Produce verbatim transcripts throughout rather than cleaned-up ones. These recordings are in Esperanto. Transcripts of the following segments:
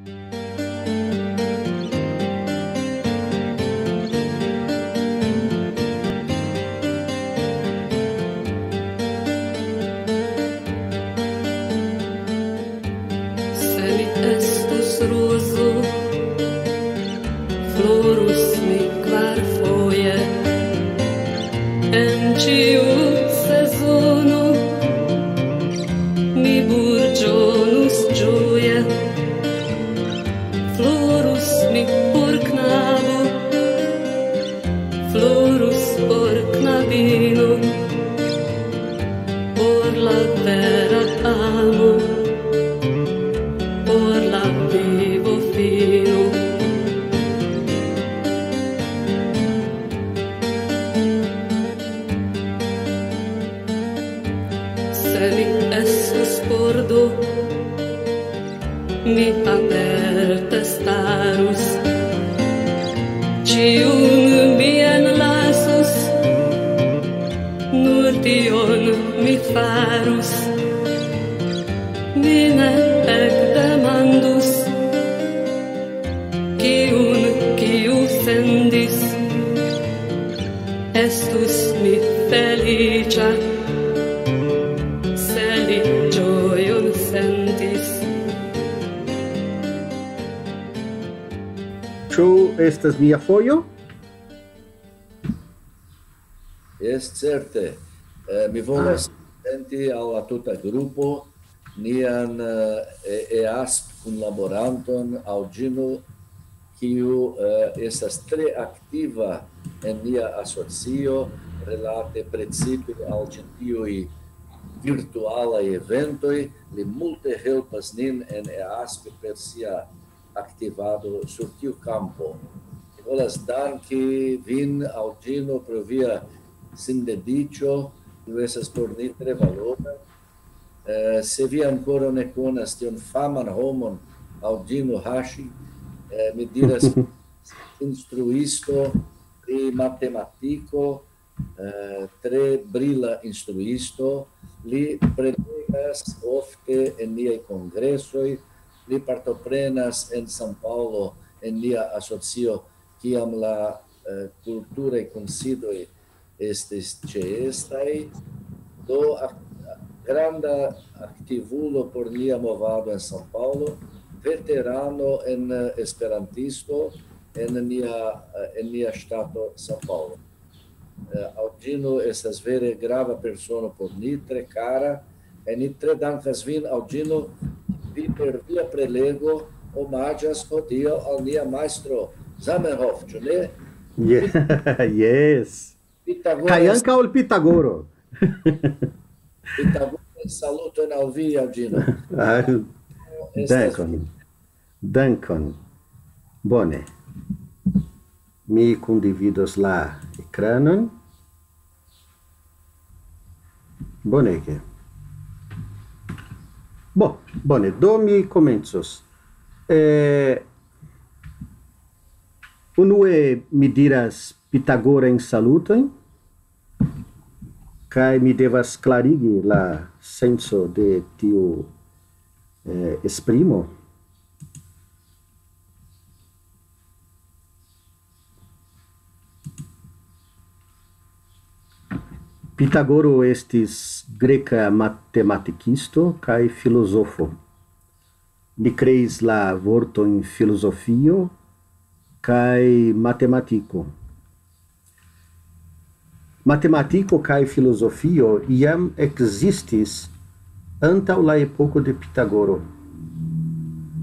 Se mi estus rozo, florus mi kvarfoje. En ĉiu sezono mi burĝonus ĝoje. Florus mi por knabo, florus por knabino, por la vera amo, por la vivo fino. Se mi estus pordo, mi aperte starus. Ĉiun mi enlasus, nur tion mi farus. Mi ne ekdemandus, kiun kiu sendis. Estus mi feliĉa, se li ĝojon sentis. Ĉu estas nia fojo? Jes, certe. Eh, mi volas prezenti al la tuta grupo nian, eh, E-, EASP kunlaboranton Aŭdino, kiu, eh, estas tre aktiva en nia asocio relate precipe al ĉi tiuj virtualaj eventoj. Li multe helpas nin en EASP per sia aktivado sur tiu kampo. Mi volas danki vin, Aŭdino, pro via sindediĉo, kiu estas por ni tre valora. Eh, se vi ankoraŭ ne konas tiun faman homon, Aŭdino Hashi, eh, mi diras, instruisto pri matematiko, eh, tre brila instruisto. Li prelegas ofte en niaj kongresoj, li partoprenas en São Paulo en nia asocio, kiam la, eh, kulturaj kunsidoj estis ĉeestaj. Do, ak-, granda aktivulo por nia movado en São Paulo, veterano en, eh, esperantisto en nia, eh, en nia ŝtato São Paulo. Eh, Aŭdino estas vere grava persono por ni, tre kara, kaj ni tre dankas vin, Aŭdino, vi per via prelego omaĝas hodiaŭ al nia majstro Zamenhof, ĉu ne? Ye-, yes. Pitagoro. Kaj ankaŭ al Pitagoro. Pitagoro, saluton al vi, Aŭdino. Ah, estas dankon. Dankon. Bone. Mi kundividos la ekranon. Bonege. Bo, bone, do mi komencos. Eh, unue mi diras Pitagorajn salutojn, kaj mi devas klarigi la senco de tiu, eh, esprimo. Pitagoro estis greka matematikisto kaj filozofo. Li kreis la vortojn filozofio kaj matematiko. Matematiko kaj filozofio jam ekzistis antaŭ la epoko de Pitagoro,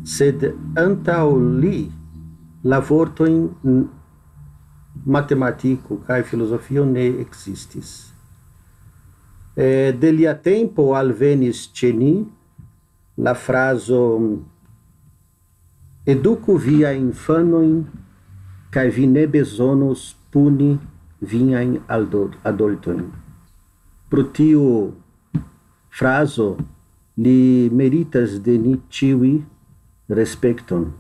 sed antaŭ li la vortojn n-, matematiko kaj filozofio ne ekzistis. Eh, de lia tempo alvenis ĉe ni la frazo: "Eduku viajn infanojn, kaj vi ne bezonos puni viajn aldo-, adultojn." Pro tiu frazo li meritas de ni ĉiuj respekton,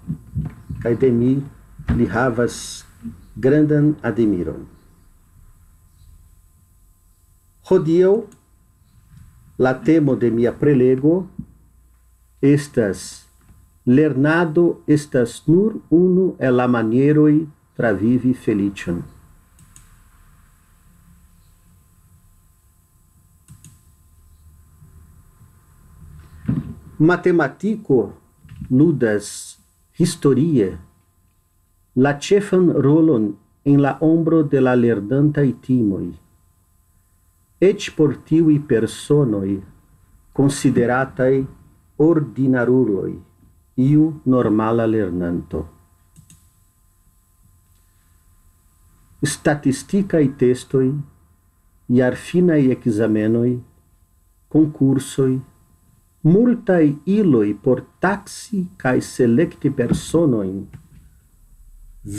kaj de mi li havas grandan admiron. Hodiaŭ la temo de mia prelego estas Lernado estas nur unu el la manieroj travivi feliĉon. Matematiko ludas historie la ĉefan rolon en la ombro de la lernantaj timoj, eĉ por tiuj personoj konsiderataj ordinaruloj, iu normala lernanto. Statistikaj testoj, jarfinaj ekzamenoj, konkursoj, multaj iloj por taksi kaj selekti personojn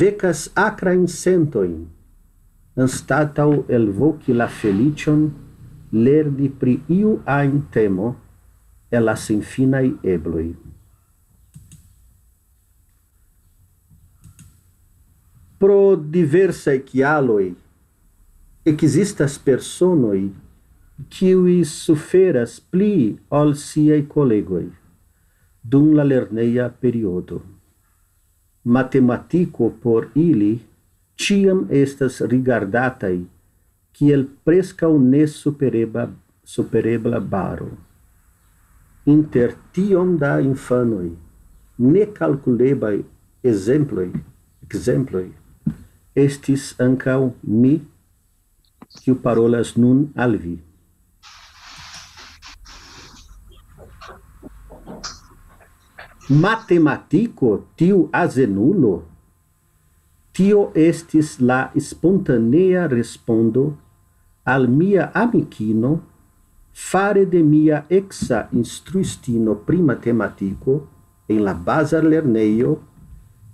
vekas akrajn sentojn, anstataŭ elvoki la feliĉon lerni pri iu ajn temo el la senfinaj ebloj. Pro diversaj kialoj ekzistas personoj, kiuj suferas pli ol siaj kolegoj dum la lerneja periodo. Matematiko por ili ĉiam estas rigardataj kiel preskaŭ nesupereba-, superebla baro. Inter tiom da infanoj, nekalkulebaj ekzemploj, ekzemploj, estis ankaŭ mi, kiu parolas nun al vi. Matematiko, tiu azenulo? Tio estis la spontanea respondo al mia amikino fare de mia eksa instruistino pri matematiko en la bazlernejo,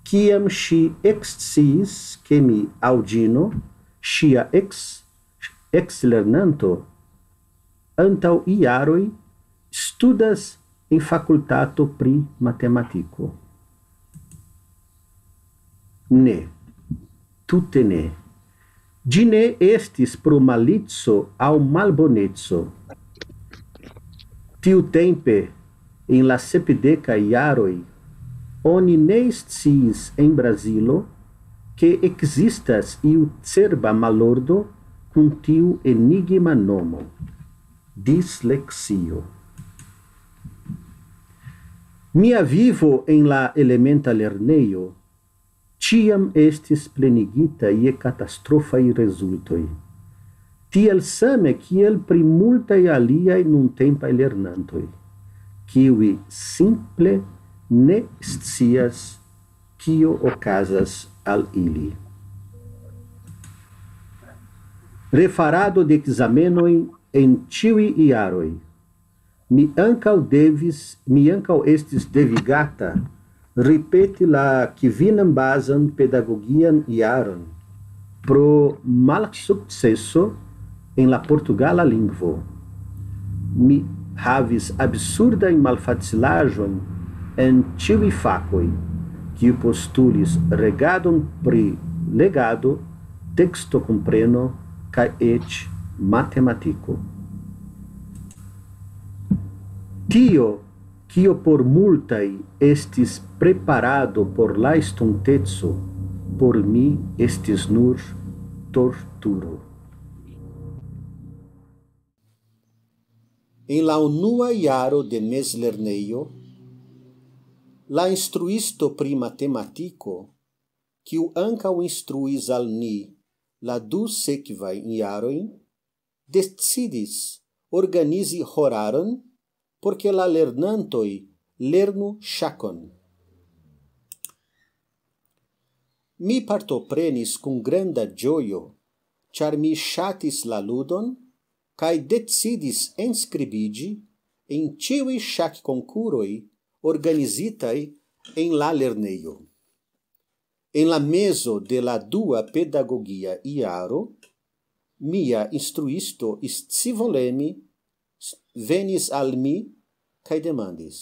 kiam ŝi eksciis, ke mi aŭ ĝino, ŝia eks-, ekslernanto, antaŭ jaroj studas en fakultato pri matematiko. Ne, tute ne. Ĝi ne estis pro malico aŭ malboneco. Tiutempe, en la sepdekaj jaroj, oni ne sciis en Brazilo, ke ekzistas iu cerba malordo kun tiu enigma nomo, disleksio. Mia vivo en la elementa lernejo ĉiam estis plenigita je katastrofaj rezultoj, tiel same kiel pri multaj aliaj nuntempaj lernantoj, kiuj simple ne scias, kio okazas al ili. Refarado de ekzamenoj en ĉiuj jaroj. Mi ankaŭ devis, mi ankaŭ estis devigata ripeti la kvinan bazan pedagogian jaron pro malsukceso en la portugala lingvo. Mi havis absurdajn malfacilaĵojn en ĉiuj fakoj, kiu postulis regadon pri legado, tekstokompreno kaj eĉ matematiko. Tio, kio por multaj estis preparado por la estonteco, por mi estis nur torturo. En la unua jaro de mezlernejo, la instruisto pri matematiko, kiu ankaŭ instruis al ni la du sekvajn jarojn, decidis organizi horaron, por ke la lernantoj lernu ŝakon. Mi partoprenis kun granda ĝojo, ĉar mi ŝatis la ludon, kaj decidis enskribiĝi en ĉiuj ŝakkonkuroj organizitaj en la lernejo. En la mezo de la dua pedagogia jaro, mia instruisto scivoleme s-, venis al mi kaj demandis: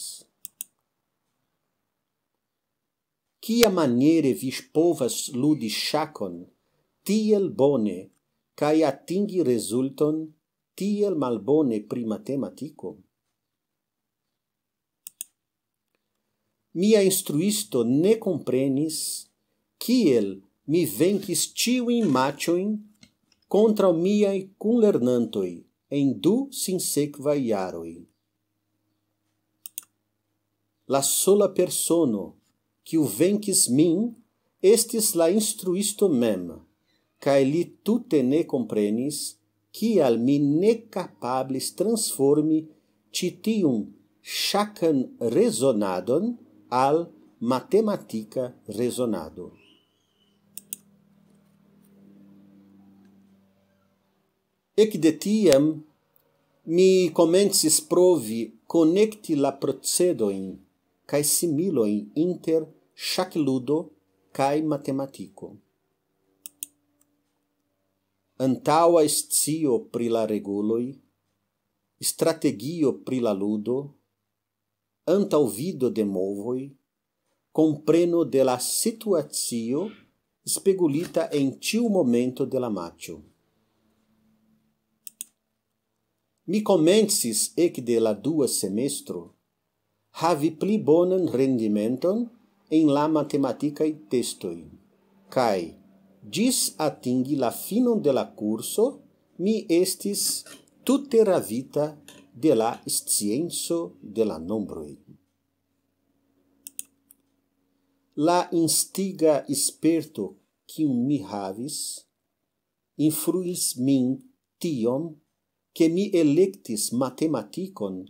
"Kiamaniere vi povas ludi ŝakon tiel bone kaj atingi rezulton tiel malbone pri matematiko?" Mia instruisto ne komprenis, kiel mi venkis ĉiujn maĉojn kontraŭ miaj kunlernantoj en du sinsekvaj jaroj. La sola persono, kiu venkis min, estis la instruisto mem, kaj li tute ne komprenis, kial mi ne kapablis transformi ĉi tiun ŝakan rezonadon al matematika rezonado. Ekde tiam mi komencis provi konekti la procedojn kaj similojn inter ŝakludo kaj matematiko. Antaŭa scio pri la reguloj, strategio pri la ludo, antaŭvido de movoj, kompreno de la situacio spegulita en ĉiu momento de la maĉo. Mi komencis ekde la dua semestro havi pli bonan rendimenton en la matematikaj testoj, kaj ĝis atingi la finon de la kurso mi estis tute ravita de la scienco de la nombroj. La instiga sperto, kiun mi havis, influis min tiom, ke mi elektis matematikon,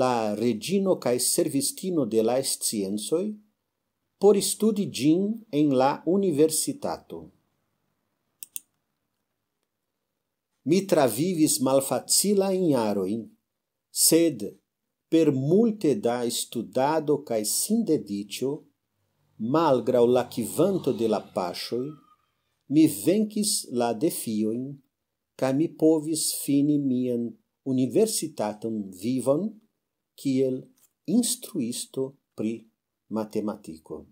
la reĝino kaj servistino de la sciencoj, por studi ĝin en la universitato. Mi travivis malfacilajn jarojn, sed per multe da studado kaj sindediĉo, malgraŭ la kvanto de la paŝoj, mi venkis la defiojn, kaj mi povis fini mian universitatan vivon kiel instruisto pri matematiko.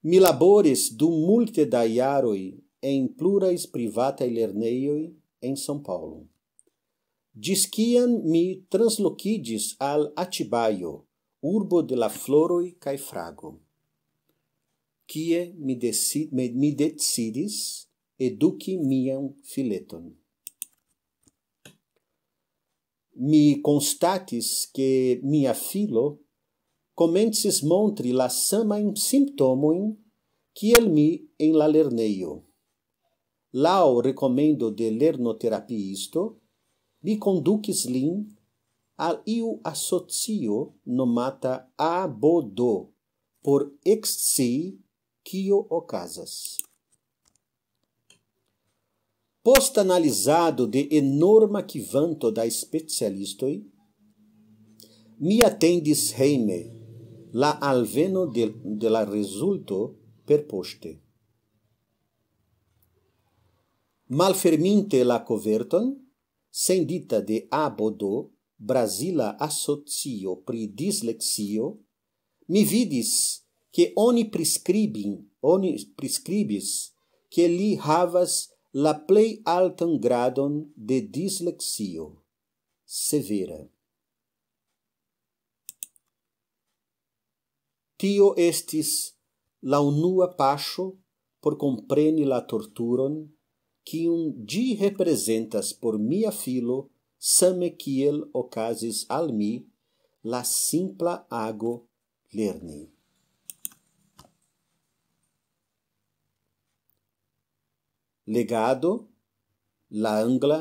Mi laboris dum multe da jaroj en pluraj privataj lernejoj en São Paulo, ĝis kiam mi translokiĝis al Atibajo, urbo de la floroj kaj frago, kie mi deci-, mi, mi decidis eduki mian fileton. Mi konstatis, ke mia filo komencis montri la samajn simptomojn kiel mi en la lernejo. Laŭ rekomendo de lernoterapiisto, mi kondukis lin al iu asocio nomata A B D por ekscii, kio okazas. Post analizado de enorma kvanto da specialistoj, mi atendis hejme la alveno de, de la rezulto perpoŝte. Malferminte la koverton, sendita de A B D, Brazila Asocio pri Disleksio, mi vidis, ke oni priskribin-, oni priskribis, ke li havas la plej altan gradon de disleksio severa. Tio estis la unua paŝo por kompreni la torturon, kiun ĝi reprezentas por mia filo, same kiel okazis al mi la simpla ago lerni. Legado, la angla,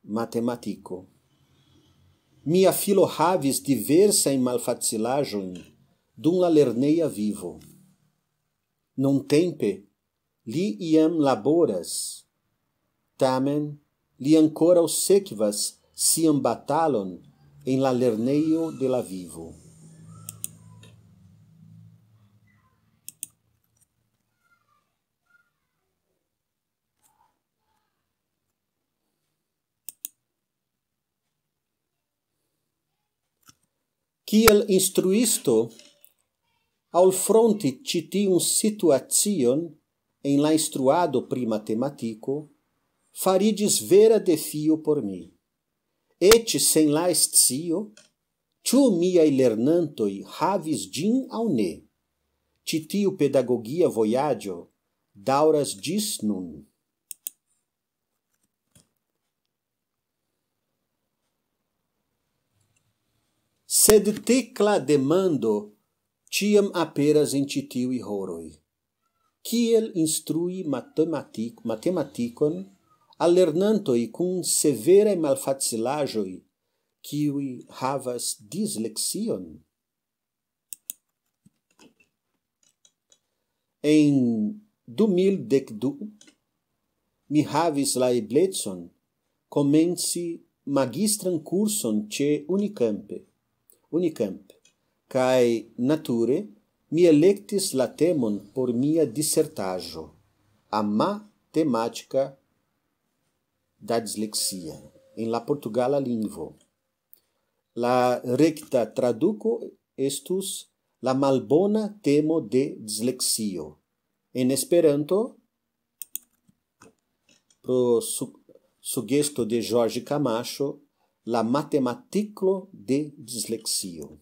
matematiko. Mia filo havis diversajn malfacilaĵojn dum la lerneja vivo. Nuntempe li iam laboras, tamen li ankoraŭ sekvas sian batalon en la lernejo de la vivo. Kiel instruisto, alfronti ĉi tiun situacion en la instruado pri matematiko fariĝis vera defio por mi. Eĉ sen la scio, ĉu miaj lernantoj havis ĝin aŭ ne, ĉi tiu pedagogia vojaĝo daŭras ĝis nun. Sed tekla demando ĉiam aperas en ĉi tiuj horoj. Kiel instrui matematik-, matematikon al lernantoj kun severaj malfacilaĵoj, kiuj havas disleksion? En du mil dek du mi havis la eblecon komenci magistran kurson ĉe Unicamp, Unicamp, kaj nature mi elektis la temon por mia disertaĵo, ama tematika da disleksia, en la portugala lingvo. La rekta traduko estus la malbona temo de disleksio. En Esperanto, pro su-, sugesto de Jorge Camacho, la matematiklo de disleksio.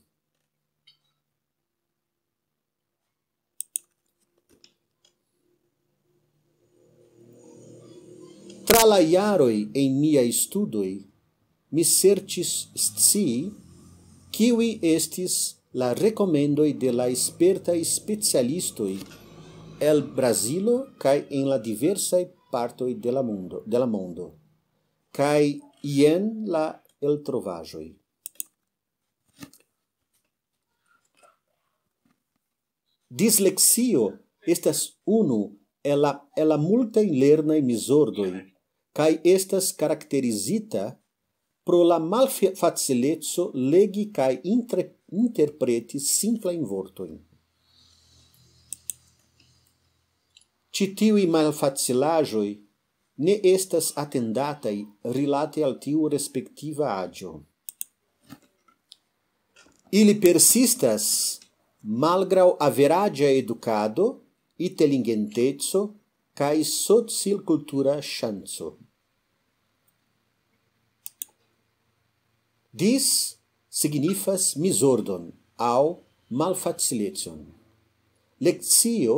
Tra la jaroj en miaj studoj, mi serĉis scii, kiuj estis la rekomendoj de la spertaj specialistoj el Brazilo kaj en la diversaj partoj de la mondo, de la mondo. Kaj jen la eltrovaĵoj. Disleksio estas unu el la, el la multaj lernaj mizordoj, kaj estas karakterizita pro la malfacileco legi kaj intre-, interpreti simplajn vortojn. Ĉi tiuj malfacilaĵoj ne estas atendataj rilate al tiu respektiva aĝo. Ili persistas malgraŭ averaĝa edukado, inteligenteco kaj socilkultura ŝanco. Dis signifas mizordon aŭ malfacilecon. Lekcio,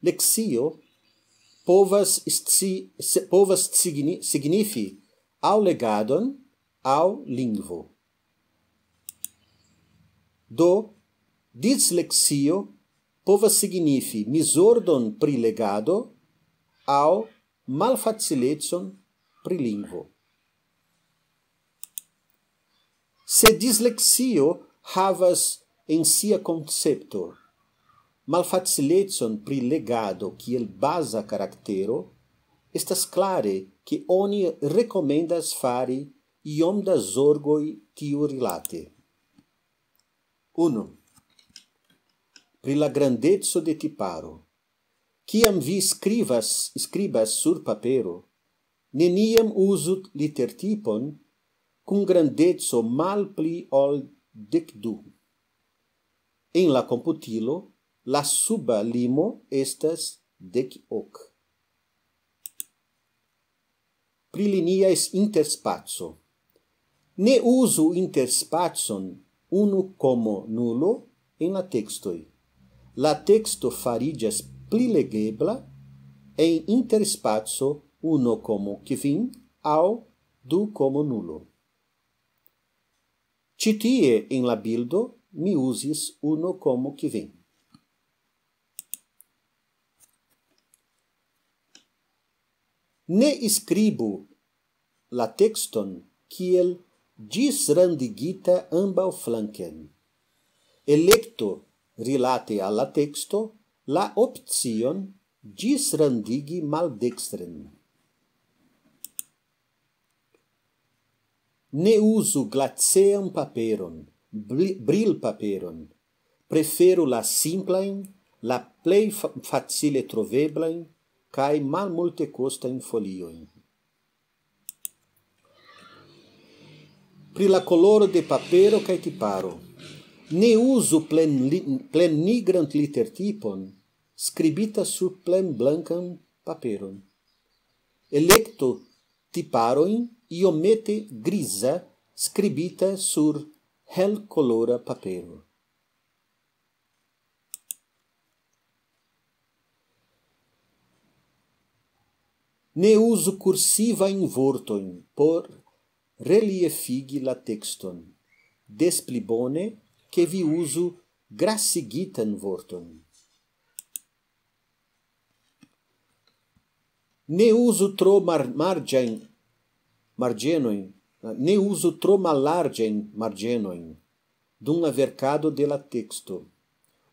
lekcio povas sci-, se-, povas signi-, signifi aŭ legadon, aŭ lingvo. Do, disleksio povas signifi mizordon pri legado aŭ malfacilecon pri lingvo. Se disleksio havas en sia koncepto malfacilecon pri legado kiel baza karaktero, estas klare, ke oni rekomendas fari iom da zorgoj tiurilate. Unu. Pri la grandeco de tiparo. Kiam vi skribas, skribas sur papero, neniam uzu litertipon kun grandeco malpli ol dek du. En la komputilo, la suba limo estas dek ok. Pri linia interspaco. Ne uzu interspacon unu komo nulo en la tekstoj. La teksto fariĝas pli legebla en interspaco unu komo kvin aŭ du komo nulo. Ĉi tie en la bildo mi uzis unu komo kvin. Ne skribu la tekston kiel ĝisrandigita ambaŭflanken. Elekto rilate al la teksto la opcion ĝisrandigi maldekstren. Ne uzu glacean paperon, bri-, brilpaperon. Preferu la simplajn, la plej fa-, facile troveblajn kaj malmultekostajn foliojn. Pri la koloro de papero kaj tiparo. Ne uzu plen li-, plen nigran litertipon skribita sur plen blankan paperon. Elekto tiparojn iomete griza skribita sur helkolora papero. Ne uzu kursivajn vortojn por reliefigi la tekston. Des pli bone, ke vi uzu grasigitan vorton. Ne uzu tro mar-, marĝajn marĝenojn, ne uzu tro mallarĝajn marĝenojn dum la verkado de la teksto.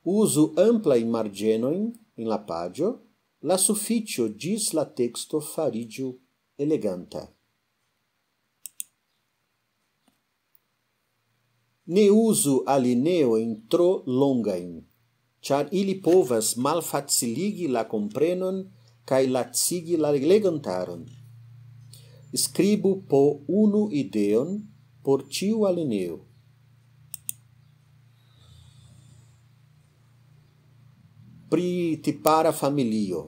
Uzu amplajn marĝenojn en la paĝo, la sufiĉo ĝis la teksto fariĝu eleganta. Ne uzu alineojn tro longajn, ĉar ili povas malfaciligi la komprenon kaj lacigi la legantaron. Skribu po unu ideon por ĉiu alineo. Pri tipara familio.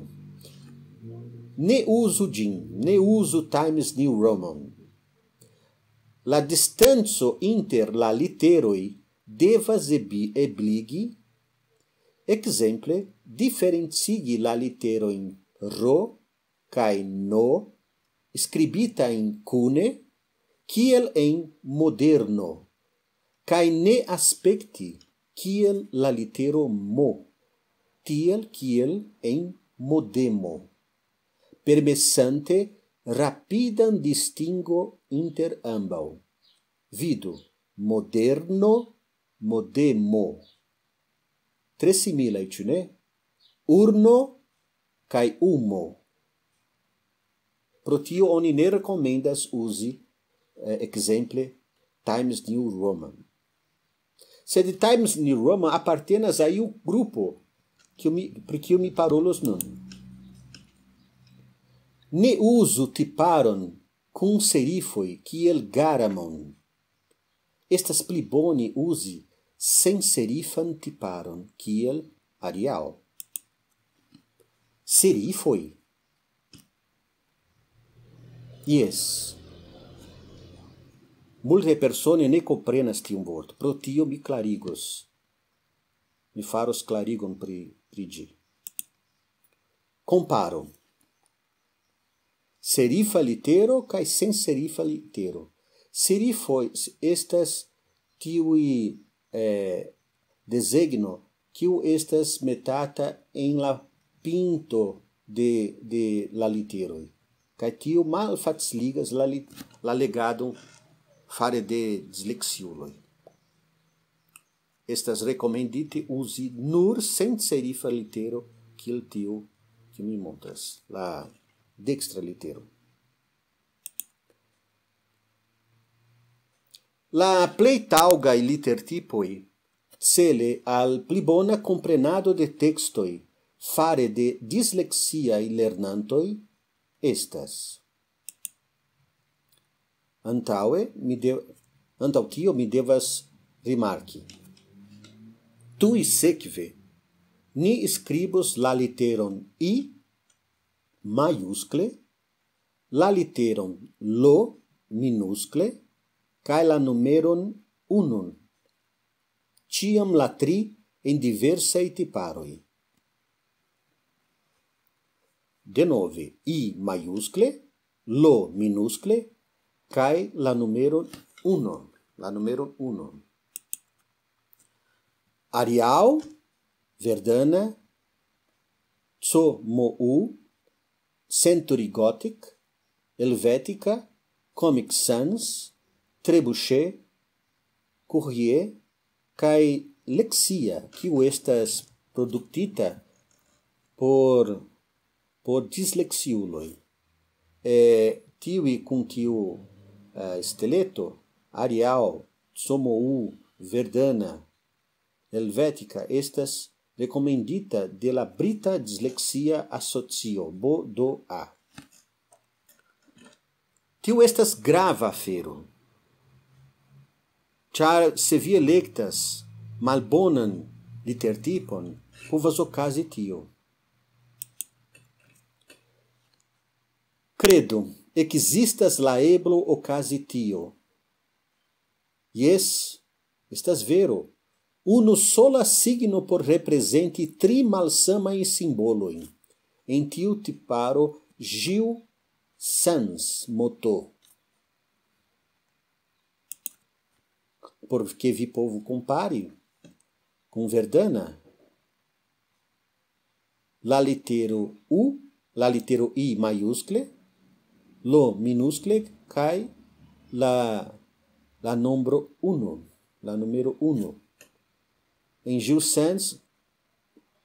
Ne uzu ĝin, ne uzu Times New Roman. La distanco inter la literoj devas ebi-, ebligi, ekzemple, diferencigi la literojn ro kaj no, skribitajn kune, kiel en moderno, kaj ne aspekti kiel la litero mo, tiel kiel en modemo, permesante rapidan distingo inter ambaŭ. Vidu, moderno, modemo. Tre similaj, ĉu ne? Urno kaj umo. Pro tio oni ne rekomendas uzi, eh, ekzemple, Times New Roman. Sed Times New Roman apartenas a iu grupo, kiu mi, pri kiu mi parolos nun. Ne uzu tiparon kun serifoj kiel Garamond. Estas pli bone uzi senserifan tiparon kiel Arial. Serifoj. Jes. Multaj personoj ne komprenas tiun vorton, pro tio mi klarigos. Mi faros klarigon pri, pri ĝi. Komparo. Serifa litero kaj senserifa litero. Serifoj s-, estas tiuj, eh, desegno, kiu estas metata en la pinto de, de la literoj. Kaj tio malfaciligas la lit-, la legadon fare de disleksiuloj. Estas rekomendite uzi nur senserifa litero, kiel tiu, kiu mi montras, la dekstra litero. La plej taŭgaj litertipoj cele al pli bona komprenado de tekstoj fare de disleksiaj lernantoj estas. Antaŭe, mi de-, antaŭ tio mi devas rimarki. Tuj sekve, ni skribos la literon I majuskle, la literon L minuskle, kaj la numeron unu. Ĉiam la tri en diversaj tiparoj. Denove, I majuskle, L minuskle, kaj la numeron unu. La numeron unu. Arial, Verdana, C M U, Century Gothic, Helvetica, Comic Sans, Trebuchet, Courrier, kaj Lexia, kiu estas produktita por, por disleksiuloj. Eh, tiuj kun tiu, eh, steleto, Arial, C M U, Verdana, Helvetica, estas rekomendita de la Brita Disleksia Asocio, B D A. Tio estas grava afero, ĉar se vi elektas malbonan litertipon, povas okazi tio. Kredu, Ekzistas la eblo okazi tio. Jes, estas vero. Unu sola signo por reprezenti tri malsamajn simbolojn. En tiu tiparo Gil Sans moto. Por ke vi povu kompari kun Verdana. La litero U, la litero I majuskle, lo minuskle kaj la, la nombro unu, la numero unu. En Gil Sans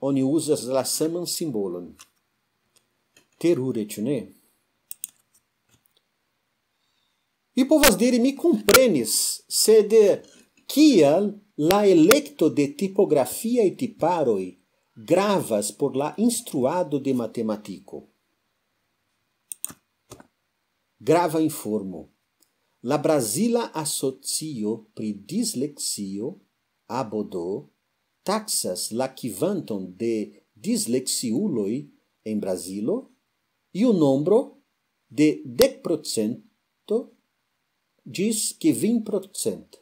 oni uzas la saman simbolon. Terure, ĉu ne? Mi povas diri, mi komprenis, sed kial la elekto de tipografiaj tiparoj gravas por la instruado de matematiko? Grava informo. La Brazila Asocio pri Disleksio, ABODO, taksas la kvanton de disleksiuloj en Brazilo, iu nombro de dek procento ĝis kvin procent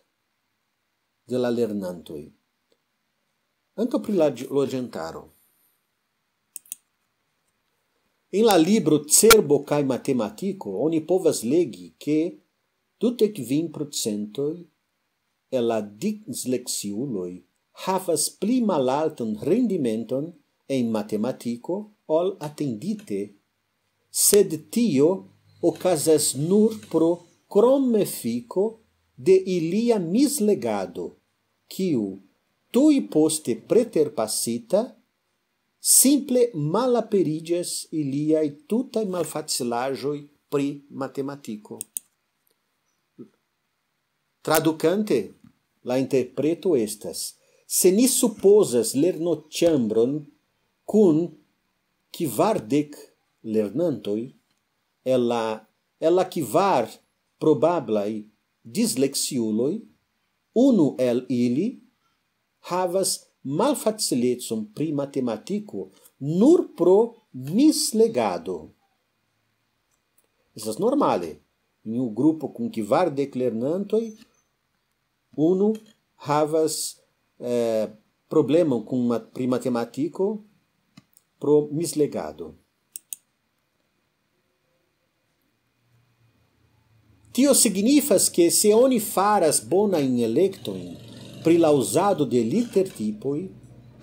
de la lernantoj. Ankaŭ pri la ĝ-, loĝantaro. En la libro Cerbo kaj Matematiko oni povas legi, ke dudek kvin procentoj el la disleksiuloj havas pli malaltan rendimenton en matematiko ol atendite, sed tio okazas nur pro kromefiko de ilia mislegado, kiu, tuj poste preterpasita, simple malaperiĝas iliaj tutaj malfacilaĵoj pri matematiko. Tradukante, la interpreto estas: se ni supozas lernoĉambron kun kvardek lernantoj, el la, el la kvar probablaj disleksiuloj, unu el ili havas malfacilecon pri matematiko nur pro mislegado. Estas normale, en iu grupo kun kvardek lernantoj, unu havas, eh, problemon kun mat-, pri matematiko pro mislegado. Tio signifas, ke se oni faras bonajn elektojn pri la uzado de litertipoj,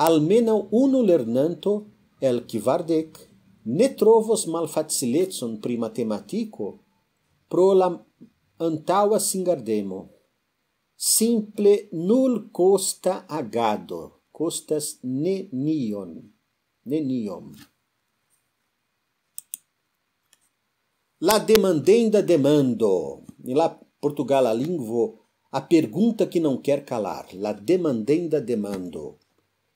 almenaŭ unu lernanto el kvardek ne trovos malfacilecon pri matematiko pro la antaŭa singardemo. Simple nulkosta agado, kostas nenion, neniom. La demandenda demando, en la portugala lingvo, a pergunta que não quer calar, la demandenda demando.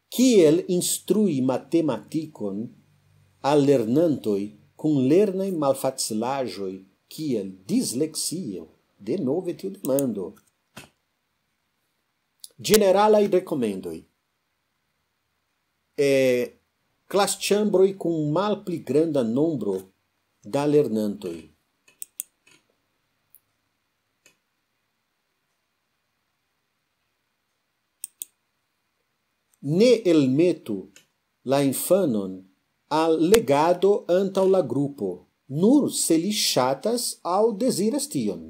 Kiel instrui matematikon al lernantoj kun lernaj malfacilaĵoj kiel disleksio? Denove tiu demando. Ĝeneralaj rekomendoj. E, klasĉambroj kun malpli granda nombro da lernantoj. Ne elmetu la infanon al legado antaŭ la grupo, nur se li ŝatas aŭ deziras tion.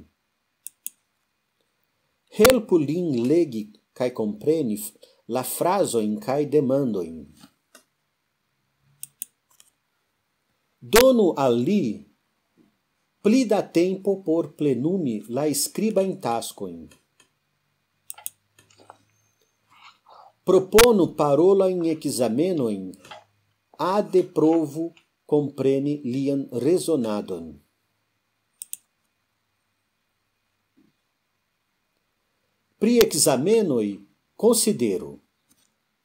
Helpu lin legi kaj kompreni f-, la frazojn kaj demandojn. Donu al li pli da tempo por plenumi la skribajn taskojn. Proponu parolajn ekzamenojn, ade provu kompreni lian rezonadon. Pri ekzamenoj konsideru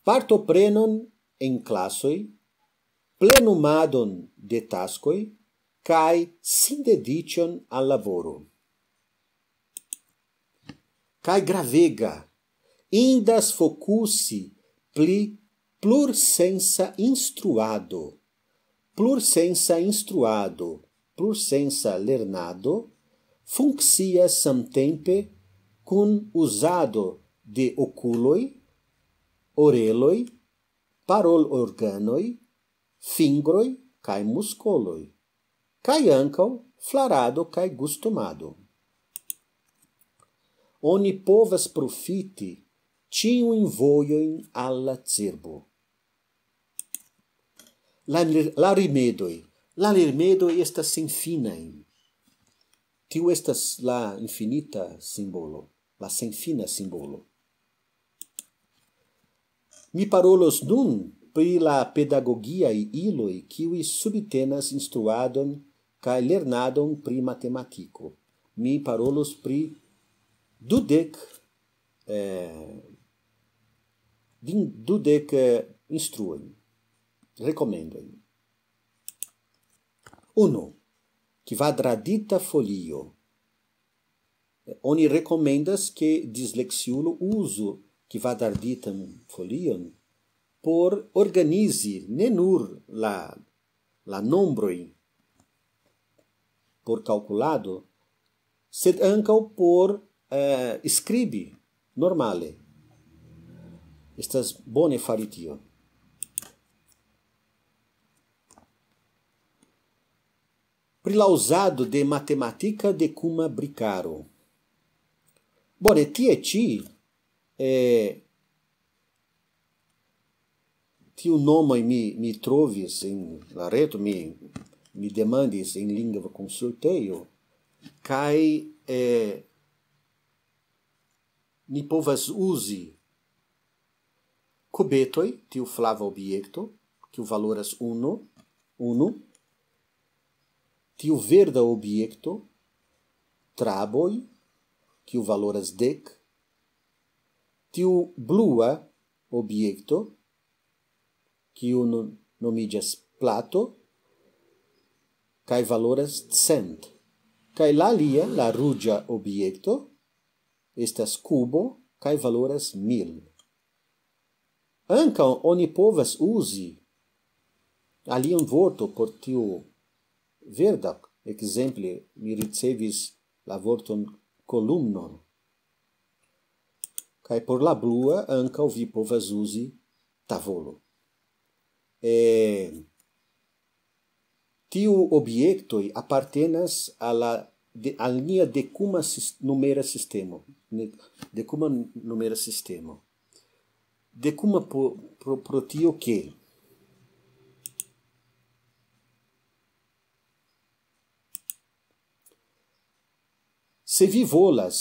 partoprenon en klasoj, plenumadon de taskoj kaj sindediĉon al laboro. Kaj gravega, indas fokusi pli plursensa instruado, plursensa instruado, plursensa lernado funkcias samtempe kun uzado de okuloj, oreloj, parolorganoj, fingroj kaj muskoloj, kaj ankaŭ flarado kaj gustumado. Oni povas profiti ĉiujn vojojn al la cerbo. La, la rimedoj. La rimedoj estas senfinaj. Tiu estas la infinita simbolo, la senfina simbolo. Mi parolos nun pri la pedagogiaj iloj, kiuj subtenas instruadon kaj lernadon pri matematiko. Mi parolos pri dudek, eh, din-, dudek, eh, instruojn, rekomendojn. Unu, kvadradita folio. Oni rekomendas, ke disleksiulo uzu kvadarditan folion por organizi ne nur la, la nombroj por kalkulado, sed ankaŭ por, eh, skribi normale. Estas bone fari tion. Pri la uzado de matematika dekuma brikaro. Bone, tie ĉi, eh, tiu nomoj mi, mi trovis en la reto, mi, mi demandis en lingva konsultejo, kaj, eh, ni povas uzi kubetoj, tiu flava objekto, kiu valoras unu, unu, tiu verda objekto, traboj, kiu valoras dek, tiu blua objekto, kiu no-, nomiĝas plato, kaj valoras cent. Kaj la alia, la ruĝa objekto, estas kubo, kaj valoras mil. Ankaŭ oni povas uzi alian vorto por tiu verda. Ekzemple, mi ricevis la vorton kolumno. Kaj por la blua ankaŭ vi povas uzi tavolo. Eh, tiu objektoj apartenas al la de, al nia dekuma sis-, numera sistemo. Ne, dekuma numera sistemo. Dekuma po-, pro, pro tio ke se vi volas,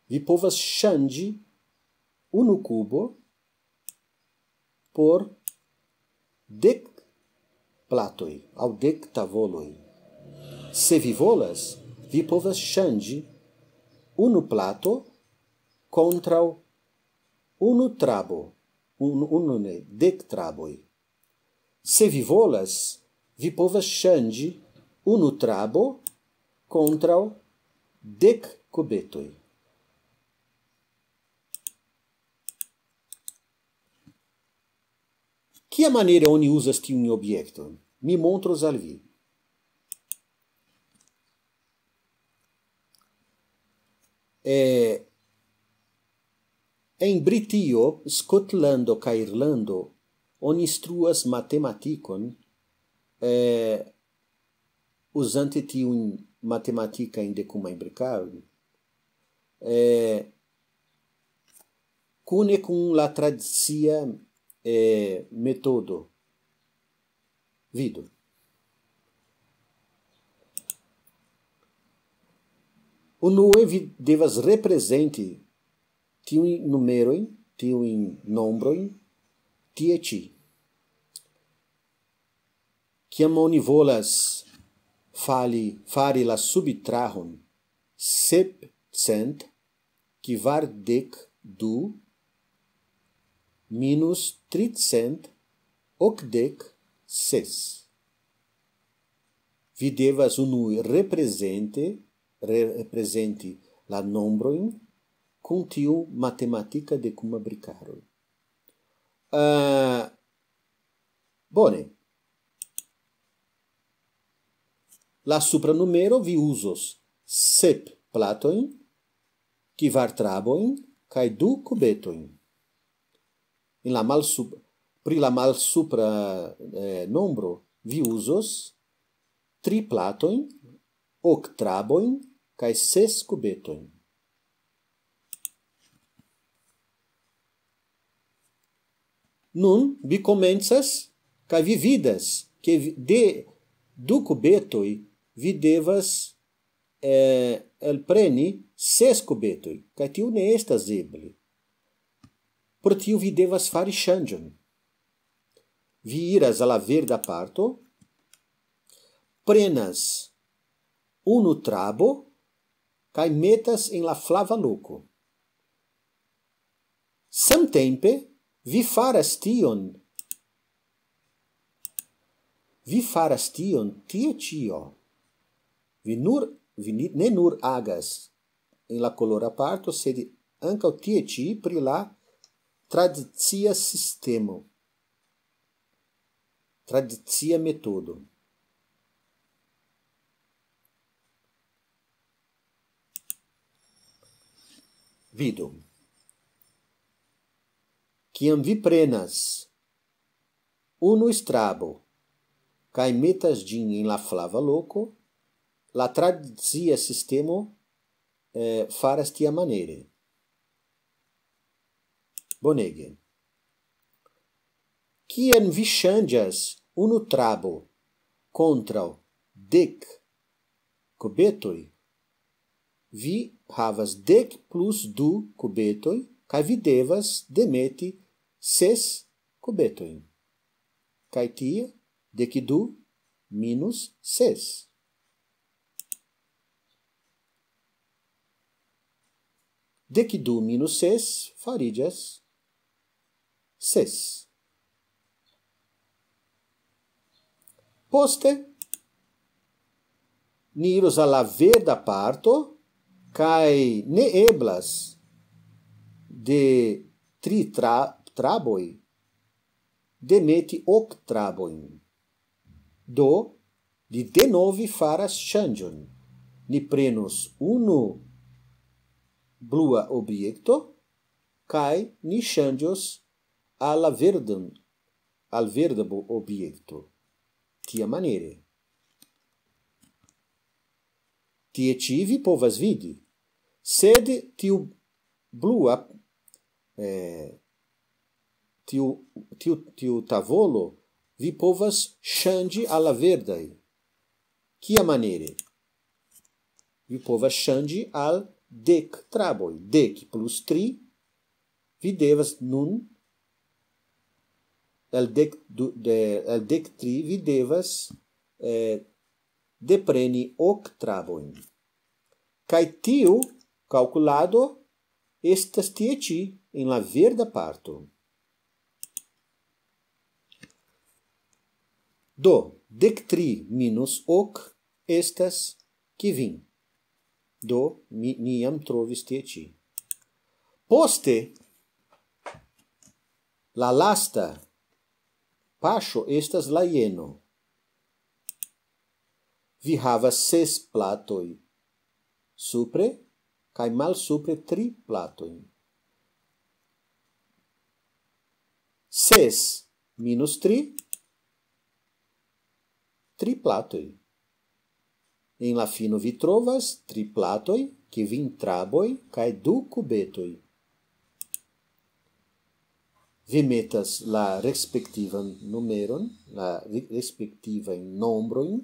vi povas ŝanĝi unu kubo por dek platoj aŭ dek tavoloj. Se vi volas, vi povas ŝanĝi unu plato kontraŭ unu trabo, unu, unu ne, dek traboj. Se vi volas, vi povas ŝanĝi unu trabo kontraŭ dek kubetoj. Kiamaniere oni uzas tiun objekton? Mi montros al vi. Eh, en Britio, Skotlando kaj Irlando oni instruas matematikon, eh, uzante tiujn matematikajn dekumajn brikarojn, eh, kune kun la tradicia, eh, metodo. Vidu. Unue vi devas reprezenti tiujn numerojn, tiujn nombrojn, tie ĉi. Kiam oni volas fali, fari la subitrahon sepcent kvardek du minus tricent okdek ses, vi devas unue reprezente, re-, reprezenti la nombrojn kun tiu matematika dekuma brikaro. Eh, bone. La supra numero vi uzos sep platojn, kvar trabojn kaj du kubetojn. En la malsup-, pri la malsupra, eh, nombro vi uzos tri platojn, ok trabojn kaj ses kubetojn. Nun vi komencas kaj vi vidas, ke vi, de du kubetoj vi devas, eh, elpreni ses kubetoj, kaj tio ne estas eble. Pro tio vi devas fari ŝanĝon. Vi iras al la verda parto, prenas unu trabo kaj metas en la flava loko. Samtempe vi faras tion, vi faras tion tie ĉio. Vi nur, vi ni-, ne nur agas en la kolora parto, sed ankaŭ tie ĉi pri la tradicia sistemo, tradicia metodo. Vidu. Kiam vi prenas unu strabo kaj metas ĝin en la flava loko, la tradicia sistemo, eh, faras tiamaniere. Bonege. Kiam vi ŝanĝas unu trabo kontraŭ dek kubetoj, vi havas dek plus du kubetoj, kaj vi devas demeti ses kubetojn. Kaj tie, dek du minus ses. Dek du minus ses fariĝas ses. Poste, ni iros al la verda parto, kaj ne eblas de tri tra-, traboj demeti ok trabojn. Do, li denove faras ŝanĝon. Ni prenos unu blua objekto, kaj ni ŝanĝos al la verdan, al verda bo-, objekto. Tiamaniere. Tie ĉi vi povas vidi. Sed tiu blua, eh, tiu, tiu, tiu tavolo, vi povas ŝanĝi al la verdaj. Kiamaniere? Vi povas ŝanĝi al dek traboj. Dek plus tri, vi devas nun, el dek du, de, el dek tri, vi devas, eh, depreni ok trabojn. Kaj tiu kalkulado estas tie ĉi en la verda parto. Do, dek tri minus ok estas kvin. Do, mi, mi jam trovis tie ĉi. Poste, la lasta paŝo estas la jeno. Vi havas ses platoj supre, kaj malsupre tri platojn. Ses minus tri, tri platoj. En la fino vi trovas tri platoj, kvin traboj kaj du kubetoj. Vi metas la respektivan numeron, la re-, respektivajn nombrojn,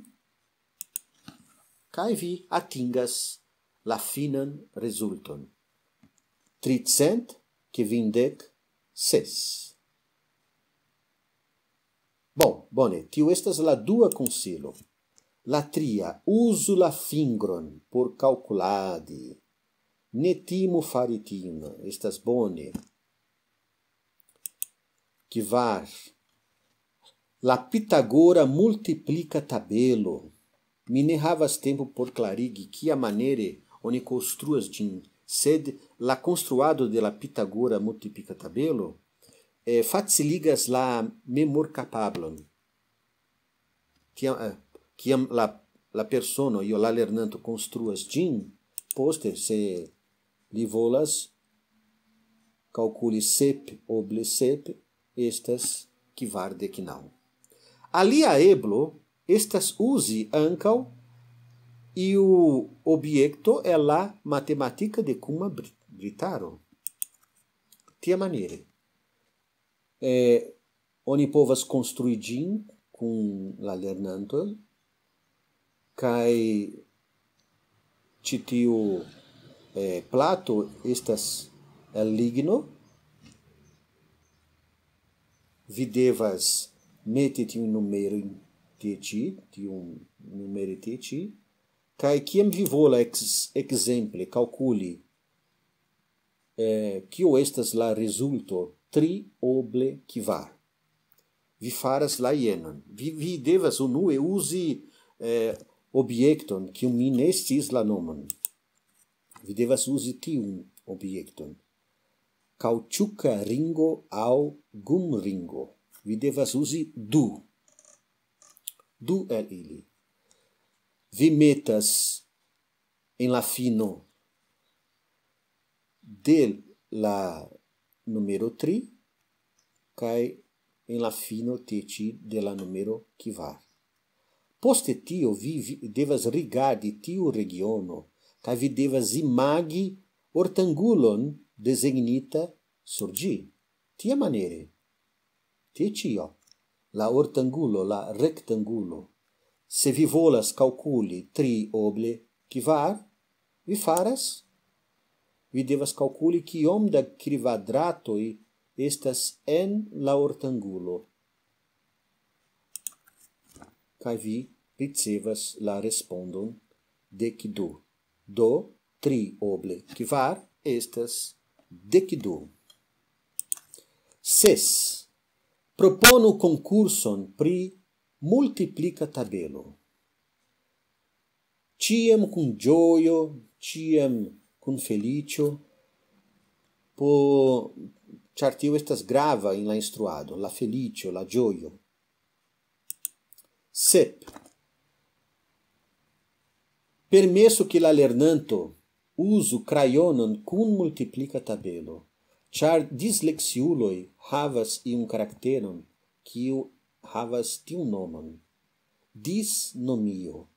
kaj vi atingas la finan rezulton. Tricent kvindek ses. Bon, bone, tiu estas la dua konsilo. La tria, uzu la fingron por kalkuladi. Ne timu fari tion, estas bone. Kvar. La Pitagora multiplika tabelo. Mi ne havas tempo por klarigi, kiamaniere oni konstruas ĝin, sed la konstruado de la Pitagora multiplika tabelo, eh, faciligas la memorkapablon. Tiam, eh, kiam la la persono, io la lernanto konstruas ĝin, poste, se li volas kalkuli sep oble sep, estas kvardek naŭ. Alia eblo estas uzi ankaŭ iu objekto el la matematika de kuma bri-, britaro. Tiamaniere, eh, oni povas konstrui ĝin kun la lernantoj, kaj ĉi tiu, eh, plato estas el ligno. Vi devas meti tiun numeron tie ĉi, tiun numeri tie ĉi, kaj kiam vi volas ex-, ekzemple kalkuli, eh, kio estas la rezulto tri oble kvar. Vi faras la jenon. Vi, vi devas unue uzi, eh, objekton, kiu mi ne sciis la nomon. Vi devas uzi tiun objekton. Kaŭĉuka ringo aŭ gumringo. Vi devas uzi du. Du el ili. Vi metas en la fino de la numero tri kaj en la fino tie ĉi de la numero kvar. Poste tio vi, vi devas rigardi tiu regiono, kaj vi devas imagi ortangulon dezegnita sur ĝi. Tiamaniere, tie ĉio, la ortangulo, la rektangulo. Se vi volas kalkuli tri oble kvar, vi faras, vi devas kalkuli kiom da kvadratoj estas en la ortangulo. Kaj vi ricevas la respondon dek du. Do, tri oble kvar estas dek du. Ses. Proponu konkurson pri multiplika tabelo. Ĉiam kun ĝojo, ĉiam kun feliĉo, po, ĉar tio estas grava en la instruado, la feliĉo, la ĝojo. Sep. Permesu ke la lernanto uzu krajonon kun multiplika tabelo, ĉar disleksiuloj havas iun karakteron, kiu havas tiun nomon. Disnomio.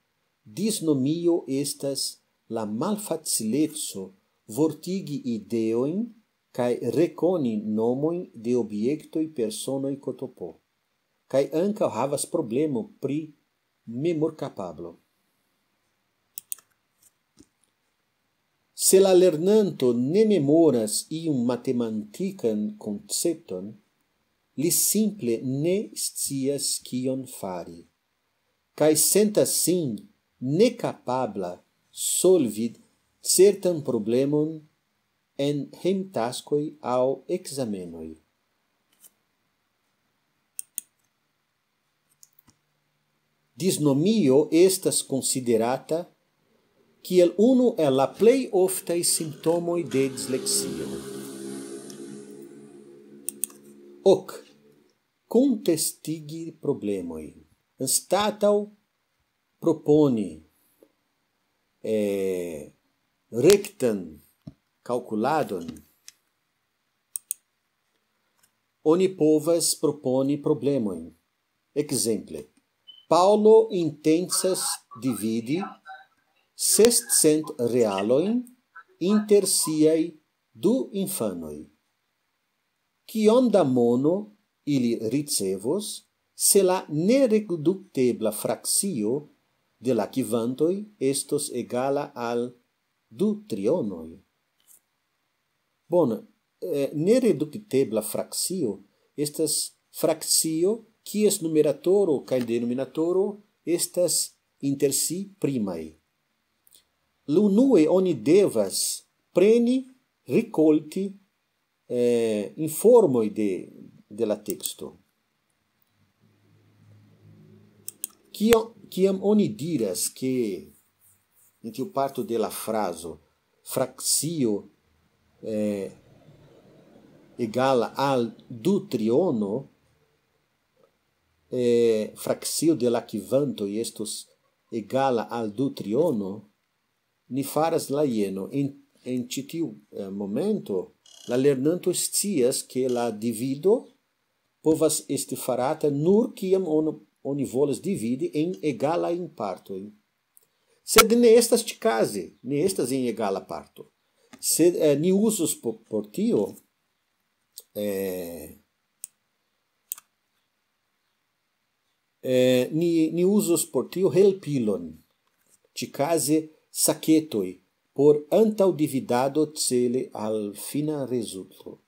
Disnomio estas la malfacileco vortigi ideojn kaj rekoni nomojn de objektoj, personoj, kotopo. Kaj ankaŭ havas problemo pri memorkapablo. Se la lernanto ne memoras iun matematikan koncepton, li simple ne scias kion fari, kaj sentas sin nekapabla solvi certan problemon en hejmtaskoj aŭ ekzamenoj. Disnomio estas konsiderata kiel unu el la plej oftaj simptomoj de disleksio. Ok. Kontestigi problemoj. Anstataŭ proponi, eh, rektan kalkuladon, oni povas proponi problemojn. Ekzemple, Paŭlo intencas dividi sescent realojn inter siaj du infanoj. Kiom da mono ili ricevos, se la nereduktebla frakcio de la kvantoj estos egala al du trionoj? Bone, eh, nereduktebla frakcio estas frakcio kies numeratoro kaj denominatoro estas inter si primaj. Unue oni devas preni, rikolti, eh, informoj de, de la teksto. Kio-, kiam oni diras, ke en tiu parto de la frazo frakcio, eh, egala al du triono, eh, frakcio de la kvantoj estos egala al du triono, ni faras la jeno. En, en ĉi tiu eh, momento, la lernanto scias, ke la divido povas esti farata nur kiam on, oni volas dividi en egalajn partojn. Sed ne estas ĉikaze, ne estas en egala parto. Sed eh, ni uzus por, por tio, eh, eh, ni, ni uzus por tio helpilon, ĉikaze saketoj, por antaŭdividado cele al fina rezulto.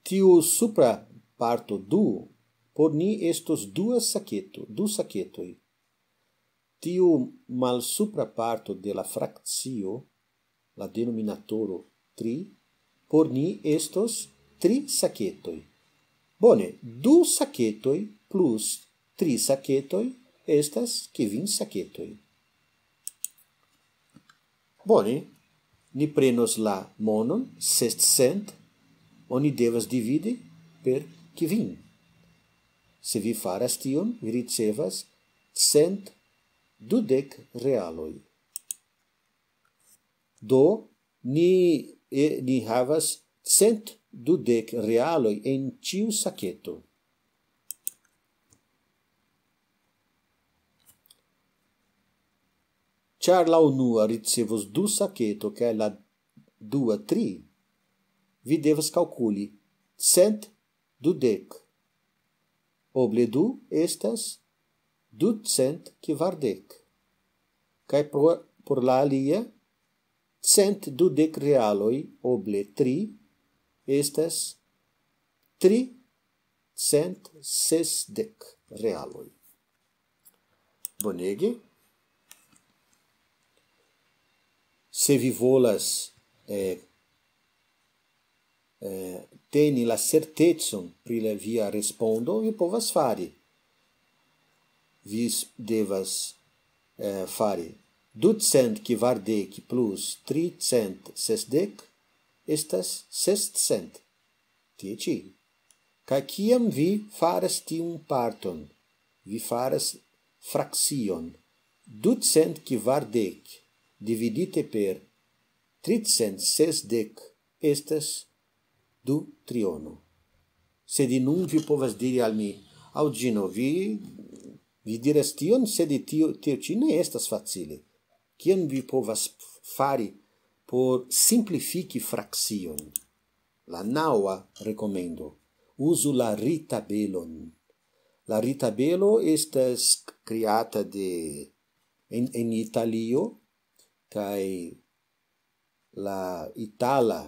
Tiu supra parto du por ni estos dua saketo, du saketoj. Tiu malsupra parto de la frakcio, la denominatoro tri, por ni estos tri saketoj. Bone, du saketoj plus tri saketoj estas kvin saketoj. Bone, ni prenos la monon, sescent, oni devas dividi per kvin. Se vi faras tion, vi ricevas cent dudek realoj. Do, ni, eh, ni havas cent dudek realoj en ĉiu saketo. Ĉar la unua ricevos du saketo kaj la dua tri, vi devas kalkuli cent dudek. Oble du estas ducent kvardek. Kaj por, por la alia, cent dudek realoj oble tri estas tricent sesdek realoj. Bonege. Se vi volas eh, eh, teni la certecon pri la via respondo, vi povas fari. Vi s- devas eh, fari ducent kvardek plus tricent sesdek estas sescent. Tie ĉi. Kaj kiam vi faras tiun parton, vi faras frakcion. Ducent kvardek dividite per tricent sesdek estas du triono. Sed nun vi povas diri al mi, Aŭ Ĝino, vi, vi diras tion, sed tio, tio ĉi ne estas facile. Kion vi povas fari por simplifiki frakcion? La naŭa rekomendo. Uzu la ritabelon. La ritabelo estas kreata de en, en Italio kaj la itala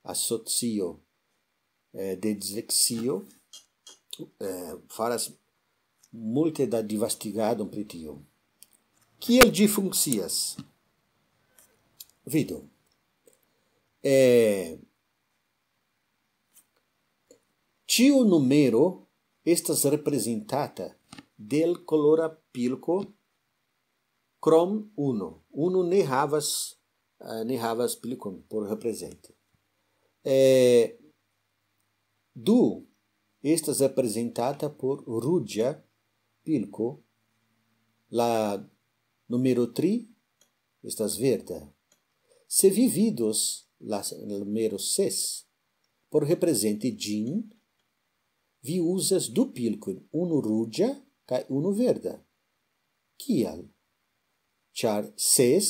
asocio eh, de disleksio eh, faras multe da devastigadon pri tio. Kiel ĝi funkcias? Vidu. Eh, ĉiu numero estas reprezentata de l kolora pilko krom unu. Unu ne havas, eh, ne havas pilkon por reprezenti. Eh, du estas reprezentata por ruĝa pilko. La numero tri estas verda. Se vi vidos la s- numero ses, por reprezenti ĝin, vi uzas du pilkojn, unu ruĝa kaj unu verda. Kial? Ĉar ses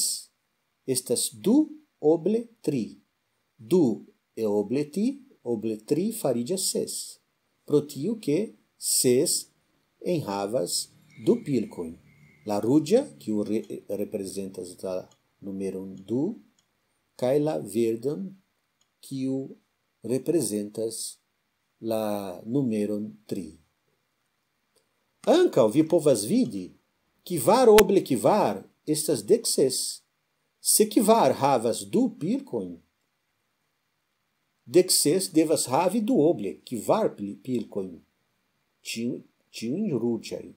estas du oble tri. Du e oble ti, oble tri fariĝas ses. Pro tio ke ses enhavas du pilkojn. La ruĝa, kiu re- reprezentas la numeron du, kaj la verdan, kiu reprezentas la numeron tri. Ankaŭ vi povas vidi, kvar oble kvar estas dek ses. Se kvar havas du pilkojn, dek ses devas havi du oble kvar pli- pilkojn, ĉiu- ĉiujn ruĝajn.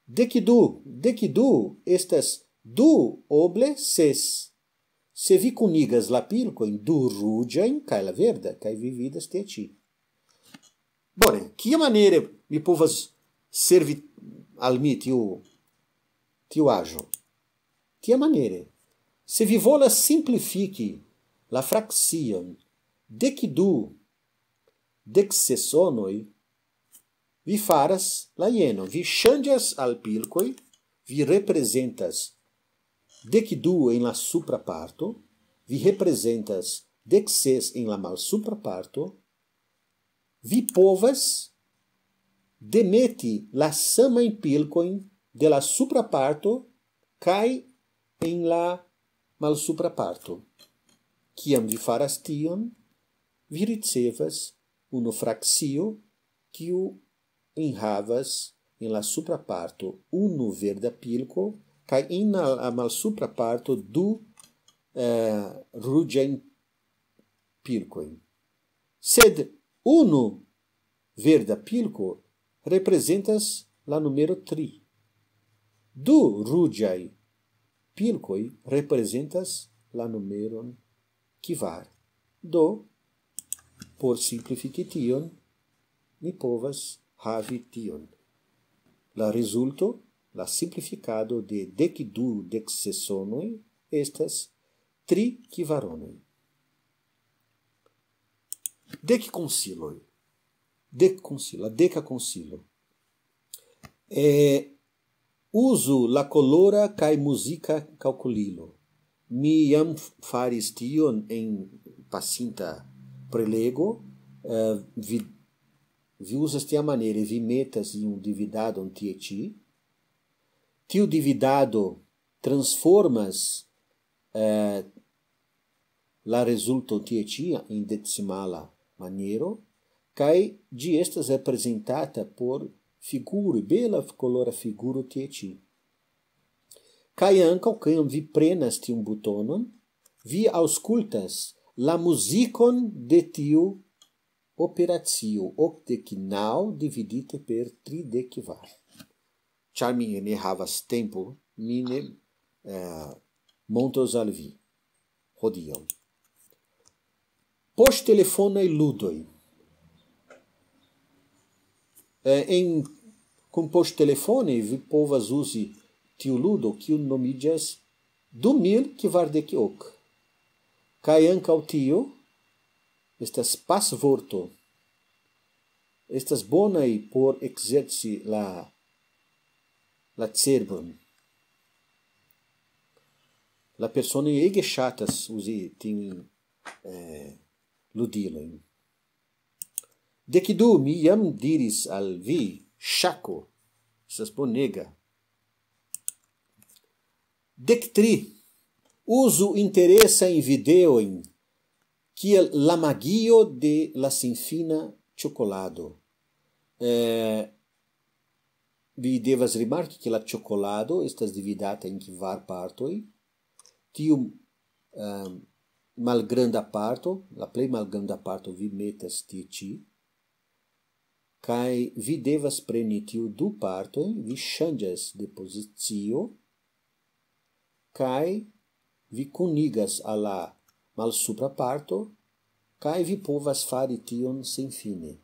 Dek du, dek du estas du oble ses. Se vi kunigas la pilkojn, du ruĝajn kaj la verda, kaj vi vidas tie ĉi. Bone, kiamaniere mi povas servi al mi tiu, tiu aĵo? Tiamaniere, se vi volas simplifiki la frakcion dek du deksesonoj, vi faras la jeno, vi ŝanĝas al pilkoj, vi reprezentas dek du en la supra parto, vi reprezentas dek ses en la malsupra parto, vi povas demeti la samajn pilkojn de la supra parto kaj en la malsupra parto. Kiam vi faras tion, vi ricevas unu frakcio, kiu enhavas en la supra parto unu verda pilko, kaj en la malsupra parto du, eh, ruĝajn pilkojn. Sed unu verda pilko reprezentas la numero tri. Du ruĝaj pilkoj reprezentas la numeron kvar. Do, por simplifiki tion, ni povas havi tion. La rezulto, la simplifikado de dek du deksesonoj estas tri kvaronoj. Dek konsiloj. Dek konsilo, la deka konsilo. Eh, uzu la kolora kaj muzika kalkulilo. Mi jam faris tion en pasinta prelego. Eh, vi, vi uzas tiamaniere, vi metas iun dividadon tie ĉi. Tiu dividado transformas, eh, la rezulto tie ĉi en decimala maniero, kaj ĝi estas reprezentata por figuro, bela kolora figuro tie ĉi. Kaj ankaŭ, kiam vi prenas tiun butonon, vi aŭskultas la muzikon de tiu operacio, okdek naŭ dividite per tridek kvar. Ĉar mi ne havas tempo, mi ne, eh, montros al vi hodiaŭ. Poŝtelefonaj ludoj. Eh, en, kun poŝtelefone vi povas uzi tiu ludo, kiu nomiĝas du mil kvardek ok. Kaj ankaŭ tio estas pasvorto. Estas bonaj por ekzerci la, la cerbon. La personoj ege ŝatas uzi tiujn, eh, ludilojn. Dek du, mi jam diris al vi, ŝako. Estas bonega. Dek tri. Uzu interesajn videojn, kiel la magio de la senfina ĉokolado. Eh, vi devas rimarki, ke la ĉokolado estas dividata en kvar partoj. Tiu, ehm, malgranda parto, la plej malgranda parto vi metas tie ĉi, kaj vi devas preni tiu du partoj, vi ŝanĝas de pozicio, kaj vi kunigas al la malsupra parto, kaj vi povas fari tion senfine.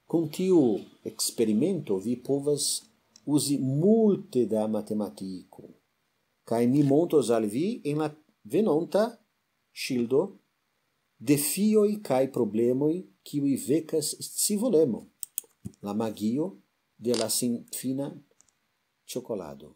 Kun tiu eksperimento vi povas uzi multe da matematiko. Kaj mi montros al vi en la venonta ŝildo defioj kaj problemoj, kiuj vekas scivolemo, la magio de la senfina ĉokolado.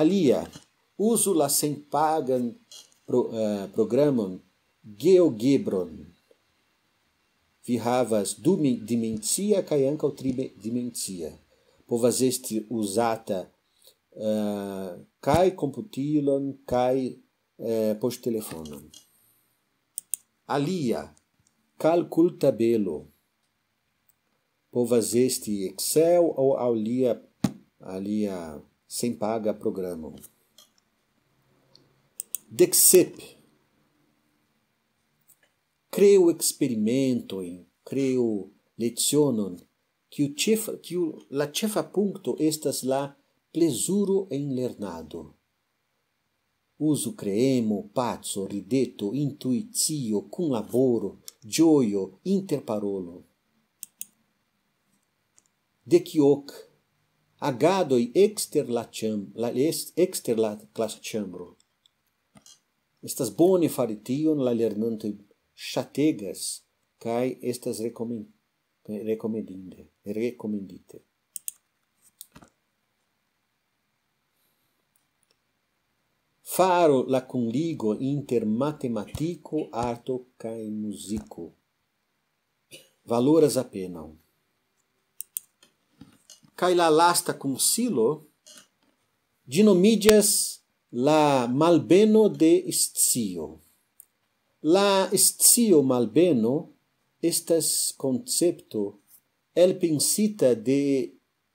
Alia, uzu la senpagan pro, eh, programon GeoGebron. Vi havas du mi-, dimencia kaj ankaŭ tri me-, dimencia. Povas esti uzata, eh, kaj komputilon kaj, eh, poŝtelefonon. Alia, kalkultabelo. Povas esti Excel aŭ alia, alia senpaga programo. Dek sep. Kreu eksperimentojn, kreu lecionon, kiu ĉefa, kiu la ĉefa punkto estas la plezuro en lernado. Uzu kreemo, paco, rideto, intuicio, kunlaboro, ĝojo, interparolo. Dek ok. Agadoj ekster la ĉam-, la est-, ekster la klasĉambro. Estas bone fari tion, la lernantoj ŝategas kaj estas rekomen-, rekomendinde, rekomendite. Faru la kunligo inter matematiko, arto kaj muziko. Valoras apenaŭ. Kaj la lasta konsilo, ĝi nomiĝas la malbeno de scio. La scio malbeno estas koncepto elpensita de